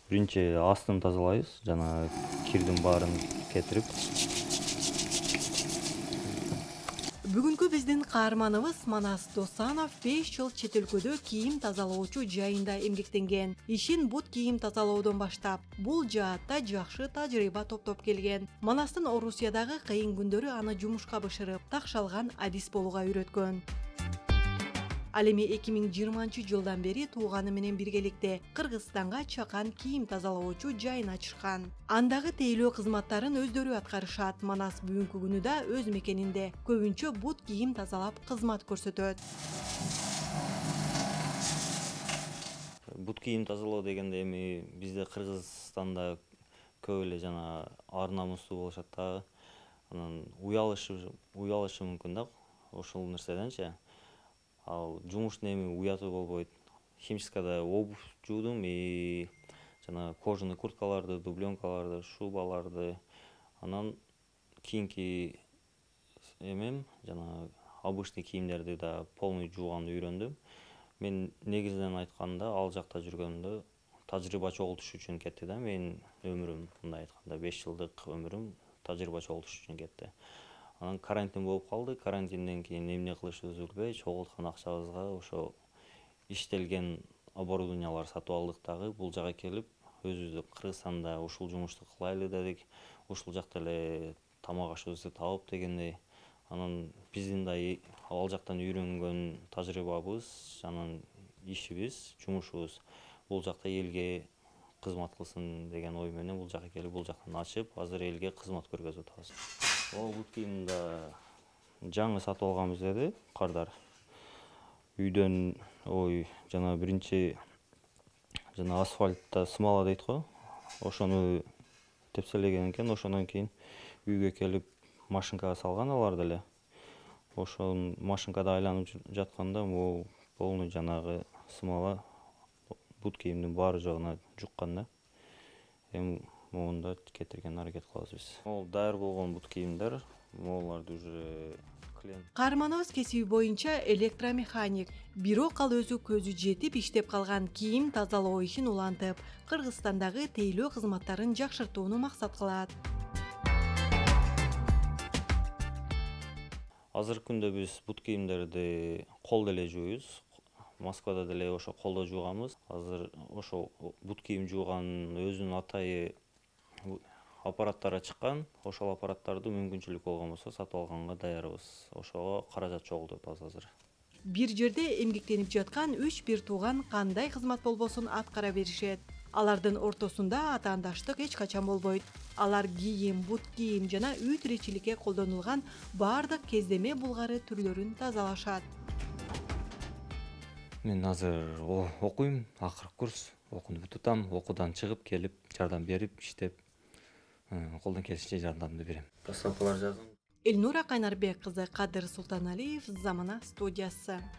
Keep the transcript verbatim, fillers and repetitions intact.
Биринчи астын тазалайбыз, жана кирдин баарын кетирип. Бүгүнкү биздин каарманыбыз Манас Досанов беш жыл чет өлкөдө кийим тазалоочу жайында эмгектенген. Ишин бут кийим тазалоодон баштап, бул жаатта жакшы тажрыйба топтоп келген. Манастын Орусиядагы кыйын күндөрү аны жумушка бышырып, такшалган адис болууга үйрөткөн. Ал эми эки миң жыйырманчы жылдан бери тууганы менен биргеликте Кыргызстанга чакан кийим тазалоочу жайын ачышкан. Андагы тейлөө кызматтарын өздөрү аткарышат. Манас бүгүнкү күнү да өз мекенинде көбүнчө бут кийим тазалап кызмат көрсөтөт. Бут кийим тазалоо дегенде эми бизде Кыргызстанда көп эле жана ар намустуу болушат дагы. Анан уялышы уялышы мүмкүн да ошол нерседенчи. Ал жумуштун эми уятуу болбойт. Химчискада обувь жуудум и жана кожаный курткаларды, дубленкаларды, шубаларды, анан кийинки эмем жана обычный кийимдерди да полный жууганды үйрөндүм. Мен негизинен айтканда ал жакта жүргөндө тажрыйба чогултуш үчүн кетти да менин өмүрүм, мындай айтканда беш жылдык өмүрүм тажрыйба чогултуш үчүн кетти. Анан карантин болуп калды. Карантинден кийин эмне кылышыбызды билбей, чогулткан акчабызга ошо иштелген оборудованиялар сатып алдык дагы. Бул жака келип, өзүбүздө Кыргызстанда ушул жумушту кылайлы дедик. Ушул жакта эле тамак ашыбызды табып дегендей. Анан биздин да ал жактан үйрөнгөн тажрыйбабыз, анан ишибиз, жумушубуз бул жакта элге кызмат кылсын деген ой менен бул жака келип, бул жактан ачып, азыр элге кызмат көргөзүп атабыз. Ол бут кийимди жаңы сатып алганбыз деди кардар. Үйдөн ой жана биринчи жана асфальтта смола дейт го. Ошону тепселеген экен, ошондон кийин үйгө келип машинкага салган алар деле. Ошол машинкада айланып жатканда могу полный жанагы смола бут кийимдин баары жогуна жуккан да. Эми могунда кетирген аракет кылабыз биз. Могул даяр болгон бут кийимдер, могуларды уже клиент. Каарманыбыз кесиби боюнча электромеханик. Бирок ал өзү көзү жетип иштеп калган кийим тазалоо ишин улантып, Кыргызстандагы тейлөө кызматтарын жакшыртууну максат кылат. Азыркы күндө биз бут кийимдерди кол деле жууйбуз. Москвада деле ошо колдо жууганбыз. Азыр ошо бут кийим жууган өзүнүн атайы аппараттары чыккан. Ошол аппараттарды мүмкүнчүлүк болгон болсо сатып алганга даярбыз. Ошого каражат чогултуп атабыз азыр. Бир жерде эмгектенип жаткан үч бир тууган кандай кызмат болбосун аткара беришет. Алардын ортосунда атаандаштык эч качан болбойт. Алар кийим, бут кийим жана үй тиричиликке колдонулган бардык кездеме булгары түрлөрүн тазалашат. Мен азыр окуйм, акыркы курс, окууну бүтүп, окуудан чыгып келип, жардам берип, иштеп, колдон келишинче жардамды берем. Постановкалар жазам. Элнура Кайнарбек кызы, Кадыр Султаналиев, Замана студиясы.